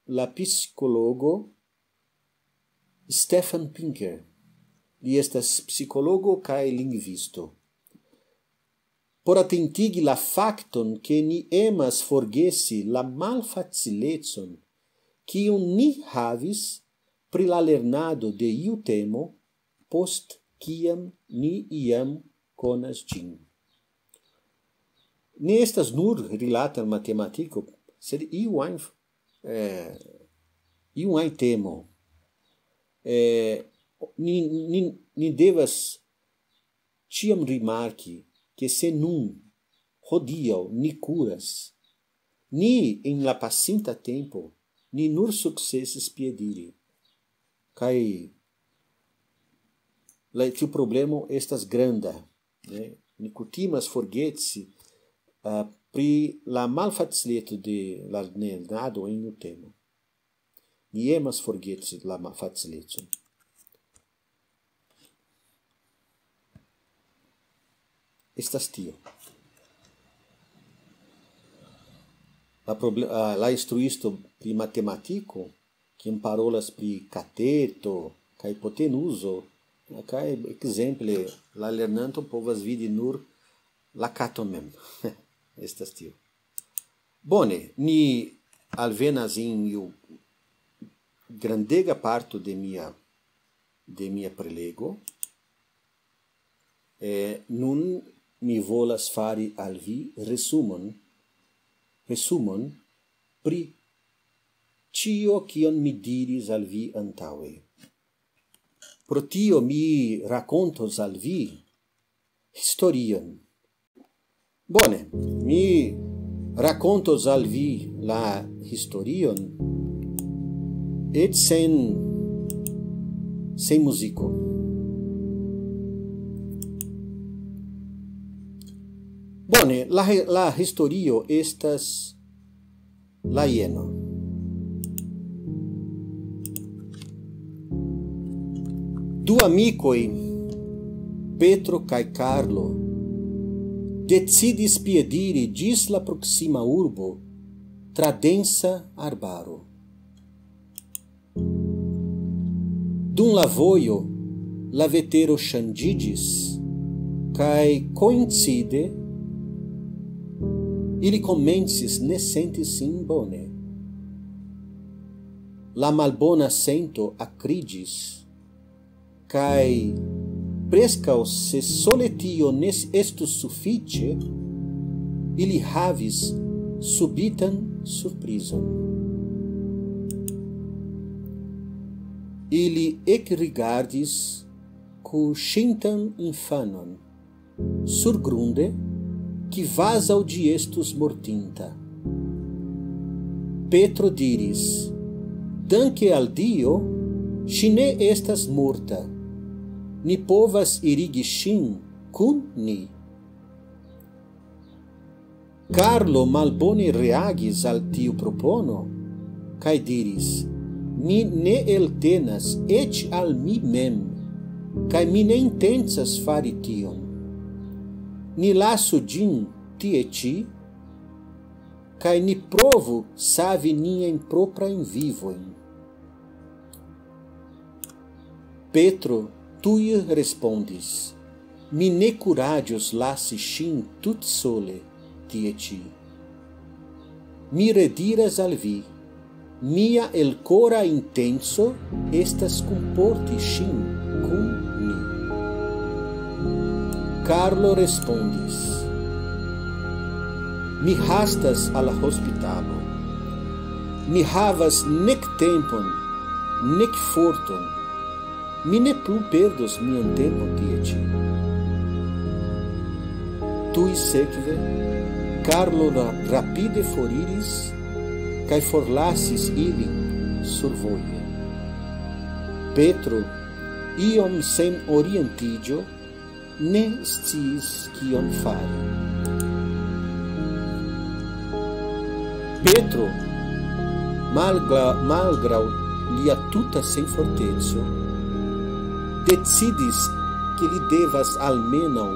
la psikologo Stefan Pinker. Li estas psikologo kaj lingvisto. Por atentigi la fakton, ke ni emas forgesi la malfacilecon, kiun ni havis pri la lernado de iu temo, post kiam ni iam konas ĝin. Ne estas nur rilate al matematiko, sed iu ajn, eh, iu ajn temo. Eh, ni, ni, ni devas ĉiam rimarki, ke se nun, hodiaŭ, ni kuras, ni en la pasinta tempo, ni nur sukcesis piediri. Kaj la, tiu problemo estas granda, ne? Ni kutimas forgesi, ah, pri la malfacileco de la lernado en iu temo. Ni emas forgesi la malfacilecon. Estas tio. La proble-, ah, la instruisto pri matematiko, kiam parolas pri kateto kaj hipotenuzo, kaj ekzemple la lernanto povas vidi nur la katon mem. Estas tio. Bone, ni alvenas en iu grandega parto de mia, de mia prelego. Eh, nun mi volas fari al vi resumon, resumon pri ĉio, kion mi diris al vi antaŭe. Pro tio mi rakontos al vi historion. Bone, mi rakontos al vi la historion, eĉ sen, sen muziko. Bone, la he-, la historio estas la jeno. Du amikoj, Petro kaj Karlo, decidis piediri ĝis la proksima urbo tra densa arbaro. Dum la vojo la vetero ŝanĝiĝis, kaj koincide ili komencis ne senti sin bone. La malbona sento akriĝis, kaj preskaŭ se sole tio ne estus sufiĉe, ili havis subitan surprizon. Ili ekrigardis kuŝintan infanon surgrunde, kvazaŭ ĝi estus mortinta. Petro diris: "Danke al Dio, Ŝi ne estas morta. Ni povas irigi ŝin kun ni. Karlo malbone reagis al tiu propono, kaj diris: "Mi ne eltenas eĉ al mi mem, kaj mi ne intencas fari tion. Ni lasu ĝin tie ĉi, kaj ni provu savi niajn proprajn vivojn." Petro tuj respondis: "Mi ne kuraĝos lasi ŝin tutsole tie ĉi. Mi rediras al vi, mia elkora intenco estas kunporti ŝin kun ni." Karlo respondis: "Mi hastas al la hospitalo. Mi havas nek tempon, nek forton. Mi ne plu perdos mian tempon tie ĉi." Tuj sekve, Karlo ra-, rapide foriris kaj forlasis ilin survoje. Petro, iom sen orientiĝo, ne sciis kion fari. Petro, malgra-, malgraŭ lia tuta senforteco, decidis, ke li devas almenaŭ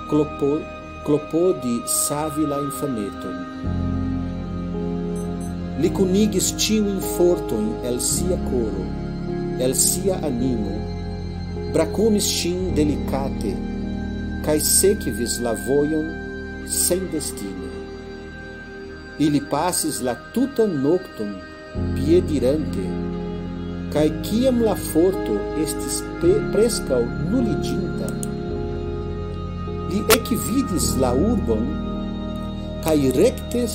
klopo-, klopodi savi la infaneton. Li kunigis ĉiujn fortojn el sia koro, el sia animo, brakumis ŝin delikate, kaj sekvis la vojon sendestine. Ili pasis la tutan nokton piedirante, kaj kiam la forto estis pre-, preskaŭ nuliĝinta, li ekvidis la urbon kaj rekte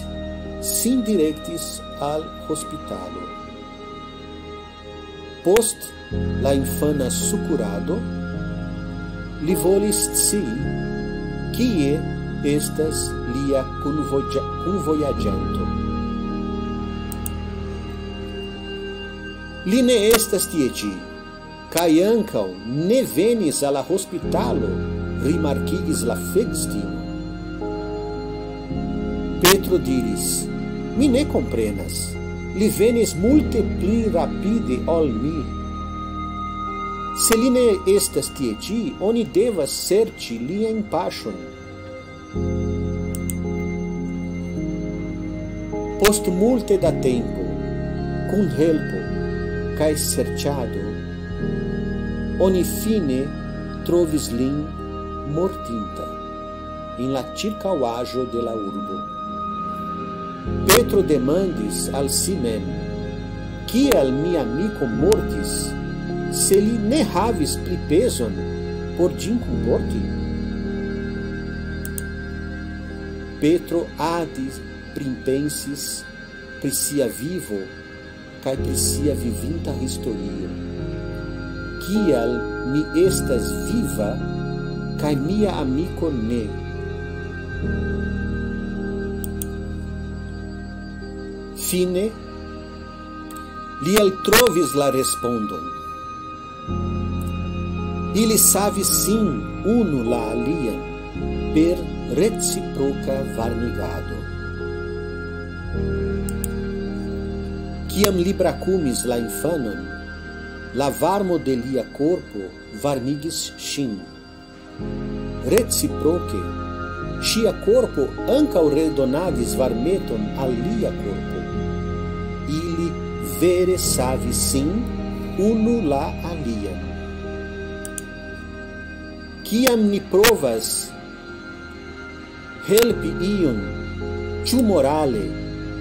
sin direktis al hospitalo. Post la infana sukurado, li volis scii, kie estas lia kunvoja-, kunvojaĝanto. "Li ne estas tie ĉi, kaj ankaŭ ne venis al la hospitalo," rimarkigis la flegistino. Petro diris: "Mi ne komprenas. Li venis multe pli rapide ol mi. Se li ne estas tie ĉi, oni devas serĉi liajn paŝojn." Post multe da tempo, kun helpo kaj serĉado, oni fine trovis lin mortinta en la ĉirkaŭaĵo de la urbo. Petro demandis al si mem: "Kial mia amiko mortis, se li ne havis pli pezon por ĝin kunporti?" Petro adis pripensis pri sia vivo kaj pri sia vivinta historio. "Kial mi estas viva kaj mia amiko ne?" Fine, li eltrovis la respondon. Ili savis sin unu la alian per reciproka varmigado. Kiam li brakumis la infanon, la varmo de lia korpo varmigis ŝin. Reciproke, ŝia korpo ankaŭ redonadis varmeton al lia korpo. Ili vere savis sin unu la alian. Kiam ni provas helpi iun, ĉu morale,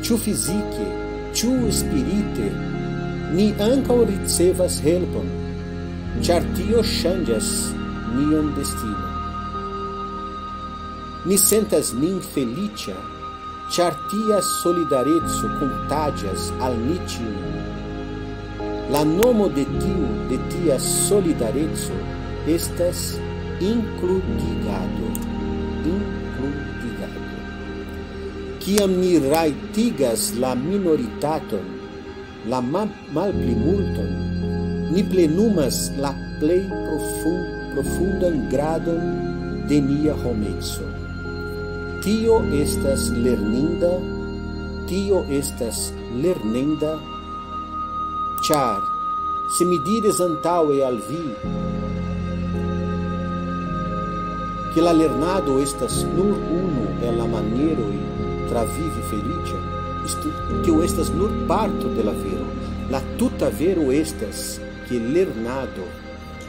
ĉu fizike, ĉu spirite, ni ankaŭ ricevas helpon, ĉar tio ŝanĝas nian destinon. Ni sentas nin feliĉa, ĉar tia solidareco kontaĝas al ni ĉiuj. La nomo de tiu, de tia solidareco estas inkludigado. Inkludigado. Kiam ni rajtigas la minoritaton, la ma-, malplimulton, ni plenumas la plej profun-, profundan gradon de nia homeco. Tio estas lerninda, tio estas lernenda, ĉar se mi diris antaŭe al vi, ke la lernado estas nur unu el la manieroj travivi feliĉon, estu-, tio estas nur parto de la vero. La tuta vero estas, ke lernado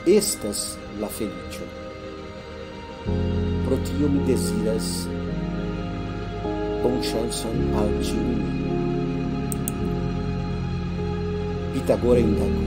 estas la feliĉo. Pro tio mi deziras bonŝancon al ĉiuj. Pitagora Indako.